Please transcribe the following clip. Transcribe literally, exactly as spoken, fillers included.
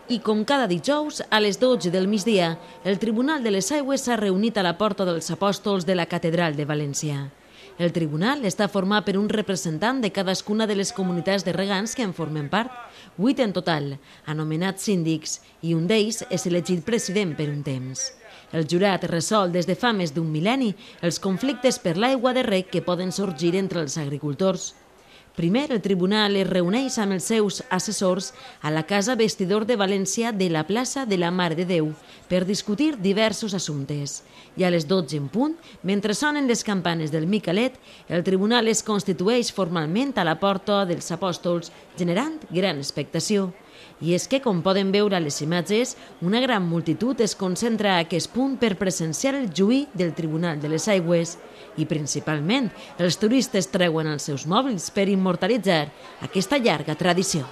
I com cada dijous, a les dotze del migdia, el Tribunal de les Aigües s'ha reunit a la Porta dels Apòstols de la Catedral de València. El tribunal està format per un representant de cadascuna de les comunitats de regants que en formen part, vuit en total, anomenats síndics, i un d'ells és elegit president per un temps. El jurat resol des de fa més d'un mil·lenni els conflictes per l'aigua de reg que poden sorgir entre els agricultors. Primer, el tribunal es reuneix amb els seus assessors a la Casa Vestidor de València de la plaça de la Mare de Déu per discutir diversos assumptes. I a les dotze en punt, mentre sonen les campanes del Micalet, el tribunal es constitueix formalment a la Porta dels Apòstols, generant gran expectació. I és que, com poden veure a les imatges, una gran multitud es concentra a aquest punt per presenciar el juí del Tribunal de les Aigües. I principalment, els turistes treuen els seus mòbils per immortalitzar aquesta llarga tradició.